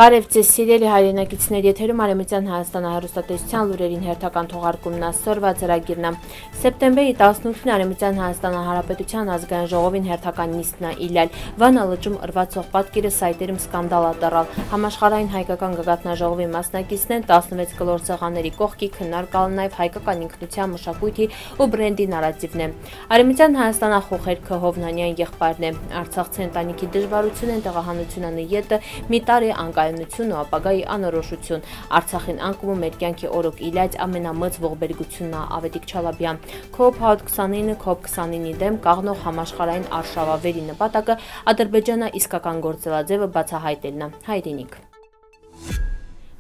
Բարև ձեզ սիրելի հայրենակիցներ, եթերում Արևմտյան Հայաստանը հեռուստատեսության լուրերին հերթական թողարկումն այսօրվա ծրագիրն է։ Սեպտեմբերի 18-ին Արևմտյան Հայաստանը Հանրապետության ազգային ժողովին հերթական նիստն է իլել։ Վանա լճում ըրվածող պատկերը սայտերում սկանդալ է դառել։ Համաշխարհային հայկական գագաթնաժողովի մասնակիցներն 16 կլոր սեղանների կողքի քննարկալ նաև հայկական ինքնության մշակույթի ու բրենդի նարատիվն է։ Արևմտյան Հայաստանը Խոխերքը Հովնանյան եղբայրն է։ Արցախցի ընտանիքի դժվարությունն են տեղահանությունն ետը մի տարի անկայունություն ու ապագայի անորոշություն։ Արցախին անկումը մեր կյանքի օրոք իլյաց ամենամեծ ողբերգությունն է Ավետիք Չալաբյան։ COP 29 COP 29-ի դեմ կաղնող համաշխարհային արշավավերի նպատակը Ադրբեջանը իսկական գործելաձևը բացահայտելն է։ Հայրենիք։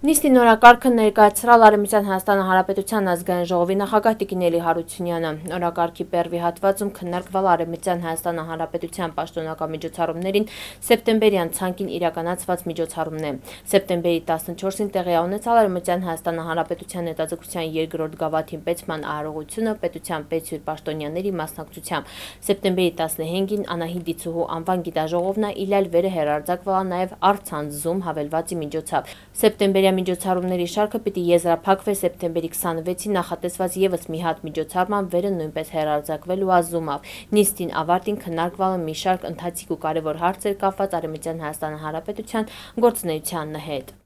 Նիստի նորակարգը ներկայացրել Արևմտյան Հայաստանի Հանրապետության ազգային ժողովի նախագահ Տիկին Էլի Հարությունյանը։ Նորակարգի պերվի հատվածում քննարկվել Արևմտյան Հայաստանի Հանրապետության պաշտոնական միջոցառումներին սեպտեմբերյան ցանկին իրականացված միջոցառումն է։ Սեպտեմբերի 14-ին տեղի ունեցավ Արևմտյան Հայաստանի Հանրապետության հետազոտության երկրորդ գավաթին պետման արարողությունը պետության պետսյուր պաշտոնյաների մասնակցությամբ։ Սեպտեմբերի 15-ին Անահիտ Դիցուհու անվան գիտաժողովն է իլել վերը հերարձակվել նաև առցանց հավելվածի միջոցով։ Սեպտեմբերի միջոցառումների շարքը պիտի եզրափակվի սեպտեմբերի 26-ին նախատեսված եւս մի հատ միջոցառման վերը նույնպես հերարձակվելու ազդումով։ Նիստին ավարտին քննարկվել է մի շարք ընթացիկ ու կարևոր հարցեր կապված Արևմտյան Հայաստանի Հանրապետության գործունեության հետ։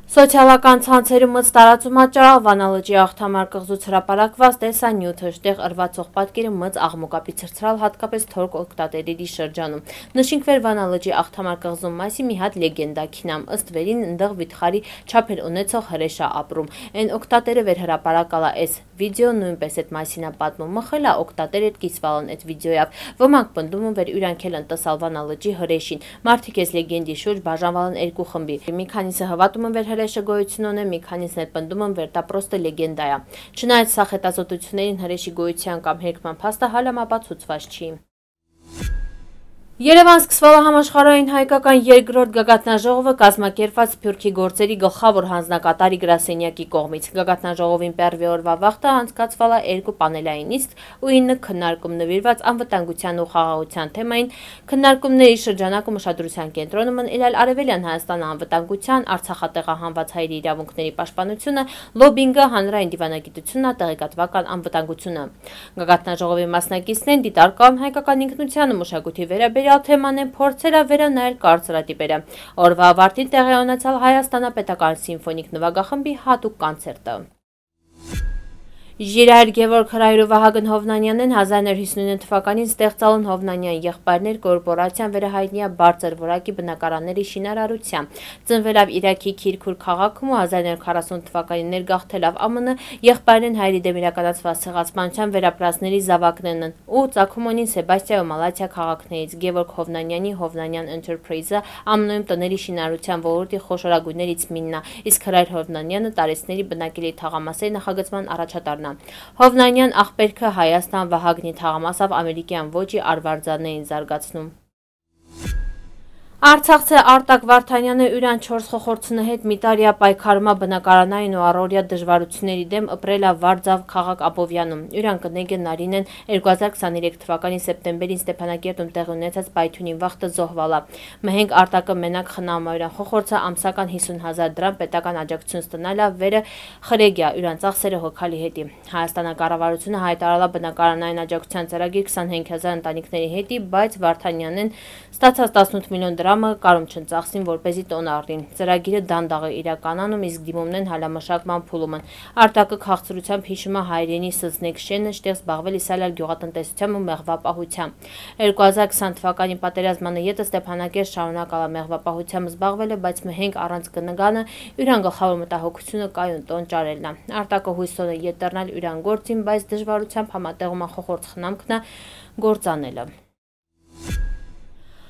Սոցիալական ցանցերում մեծ տարածում աճարալ Վանա լճի աղթամար կղզուց հրապարակված տեսանյութը, շտեղ ըրվածող պատկերը մեծ աղմուկապի ցրցրալ հատկապես թորք օգտատերերի շրջանում։ Նշենք վեր Վանա լճի աղթամար կղզու մասի մի հատ լեգենդա քինամ, ըստ վերին ընդեղ վիթխարի չափեր ունեցող հրեշա ապրում։ Այն օգտատերը վեր հրապարակալա այս վիդեո նույնպես այդ մասին է պատմում, մխելա օգտատեր այդ կիսվալն այդ վիդեոյով։ Ոմանք պնդում են վեր յուրանքել են տեսալ Վանա լճի հրեշին։ Մարդիկ այս լեգենդի շուրջ բաժանվալն երկու խմբի։ Մի քանիսը հավատում են վեր հրեշը գոյություն ունի, մի քանիսն էլ պնդում են վեր դա պրոստը լեգենդա է։ Չնայած սա հետազոտություններին հրեշի գոյության կամ հերկման փաստը հալամապացուցված չի։ Երևան սկսվել է համաշխարհային հայկական երկրորդ գագաթնաժողովը կազմակերպված Սփյուռքի գործերի գլխավոր հանձնակատարի գրասենյակի կողմից։ Գագաթնաժողովին պերվի օրվա վաղտը անցկացվել է երկու պանելային նիստ ու 9 քննարկում նվիրված անվտանգության ու խաղաղության թեմային։ Քննարկումների շրջանակում ուշադրության կենտրոնում են իրել Արևելյան Հայաստանի անվտանգության, Արցախատեղահանված հայերի իրավունքների պաշտպանությունը, լոբինգը, հանրային դիվանագիտությունը, տեղեկատվական անվտանգությունը։ Գագաթնաժողովի մասնակիցներն դիտարկան հայկական ինքնությանը մշակույթի վերաբերյալ թեման են փորձել վերանայել կարծրատիպերը։ Օրվա ավարտին տեղի ունեցավ Հայաստանապետական սիմֆոնիկ նվագախմբի հատուկ կոնցերտը։ Ժիրայր Գևորգ Հրայր ու Վահագն Հովնանյանն 1959 թվականին ստեղծալն Հովնանյան եղբայրներ կորպորացիան վերահայտնի է բարձր որակի բնակարանների շինարարությամբ։ Ծնվելով Իրաքի Քիրքուր քաղաքում ու 1940 թվականին ներգաղթելով ԱՄՆ, եղբայրն հայերի դեմ իրականացված ցեղասպանության վերապրածների զավակներն են ու ծագում ունին Սեբաստիա ու Մալաթիա քաղաքներից։ Գևորգ Հովնանյանի Հովնանյան Enterprise-ը ԱՄՆ-ում տների շինարարության ոլորտի խոշորագույներից մինն է, իսկ Հրայր Հովնանյանը տարեցների բնակելի թաղամասերի նախագծման առաջատարն է։ Հովնանյան աղբերքը Հայաստան Վահագնի թաղամասով ամերիկյան ոճի արվարձաններին զարգացնում։ Արցախցի Արտակ Վարդանյանը յուրան 4 խոխորձունի հետ մի տարի պայքարում է բնակարանային ու առօրյա դժվարությունների դեմ ապրել է Վարձավ քաղաք Աբովյանում։ Յուրան կնեգը Նարինեն 2023 թվականի սեպտեմբերին Ստեփանակերտում տեղի ունեցած պայթյունին վախտը զոհվալա։ Մհենք Արտակը մենակ խնամայրան խոխորձը ամսական 50,000 դրամ պետական աջակցություն ստանալա վերը խրեգյա յուրան ծախսերը հոգալի հետի։ Հայաստանակառավարությունը հայտարարել բնակարանային աջակցության ծրագիր 25,000 ընտանիքների հետի, բայց Վարդանյանն ստացած 18 միլիոն դրամը կարում չընծախսին, որպեսզի տոն առնին։ Ծրագիրը դանդաղ է իրականանում, իսկ դիմումներն հալամշակման փուլում են։ Արտակը քաղցրությամբ հիշում է հայրենի Սզնեկ շենը, շտեղ զբաղվել իսալյալ գյուղատնտեսությամբ ու մեղվապահությամբ։ 2020 թվականի պատերազմանը ետը Ստեփանակերտ շարունակալ է մեղվապահությամբ զբաղվել է, բայց մհենք առանց կնգանը յուրան գլխավոր մտահոգությունը կայուն տոն ճարելն է։ Արտակը հույսով է ետեռնալ յուրան գործին, բայց դժվարությամբ համատեղում է խոխորձ խնամքն գործանելը։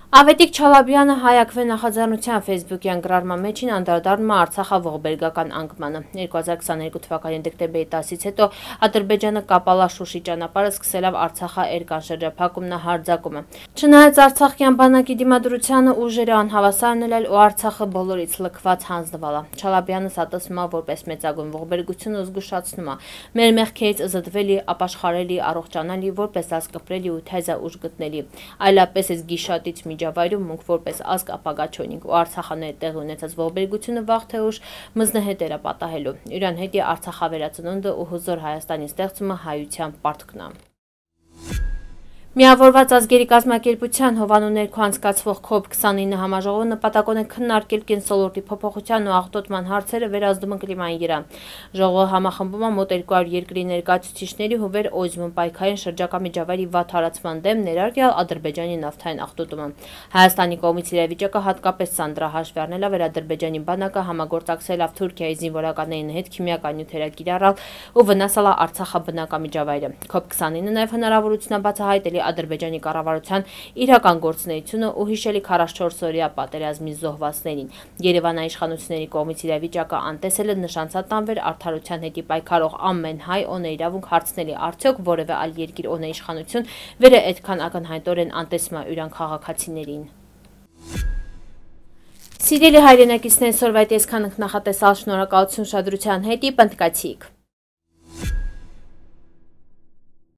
Ավետիք Չալաբյանը հայակվե նախաձեռնության ֆեյսբուքյան գրառման մեջին անդրադառնում է Արցախի ողբերգական անկմանը։ 2022 թվականի դեկտեմբերի 10-ից հետո Ադրբեջանը կապալա Շուշի ճանապարհը սկսելով Արցախի էրկան շրջափակումն հարձակումը։ Չնայած Արցախյան բանակի դիմադրությանը ուժերը անհավասար ելել ու Արցախը բոլորից լքված հանձնվալա։ Չալաբյանը սատասում է որպես մեծագույն ողբերգություն ու զգուշացնում է. մեր մեղքերից զտվելի, ապաշխարելի, առողջանալի, որպես ազգ կպրելի ու թեզա ուժ գտնելի։ Այլապես այս գիշատից միջավայրում մունք որպես ազգ ապագա չունենք ու Արցախանների տեղ ունեցած ողբերգությունը վաղ թե ուշ մզնհետեր է պատահելու։ Իրան հետ է Արցախավերածնունդը ու հզոր Հայաստանի ստեղծումը հայության պարտքն է։ Միավորված ազգերի կազմակերպության Հովանու ներքո անցկացվող COP29 համաժողովը նպատակոն է քննարկել կենսոլորտի փոփոխության ու աղտոտման հարցերը վերազդումը կլիմայի վրա։ Ժողովը համախմբում է մոտ 200 երկրի ներկայացուցիչների ու վեր օժվում պայքարին շրջակա միջավայրի վատ հարացման դեմ, ներառյալ Ադրբեջանի նավթային աղտոտումը։ Հայաստանի կողմից իրավիճակը հատկապես սանձրահաշվի առնելա վեր Ադրբեջանի բանակը համագործակցելով Թուրքիայի զինվորականներին հետ քիմիական նյութեր կիրառալ ու վնասալա Արցախի բնական միջավայրը։ COP29-ը նաև հնարավորություն է բացահայտելի Ադրբեջանի կառավարության իրական գործունեությունը ու հիշելի 44-օրյա պատերազմի զոհվածներին։ Երևանի իշխանությունների կողմից իրավիճակը անտեսելը նշանցած տանվեր արդարության հետի պայքարող ամեն հայ օնե իրավունք հարցնելի արդյոք որևէ այլ երկիր օնե իշխանություն վերը այդքան ակնհայտորեն անտեսում է իրան քաղաքացիներին։ Սիրելի հայրենակիցներ, սորվայտ այսքան նախատեսալ, շնորհակալություն ուշադրության հետ, պնդկացիք։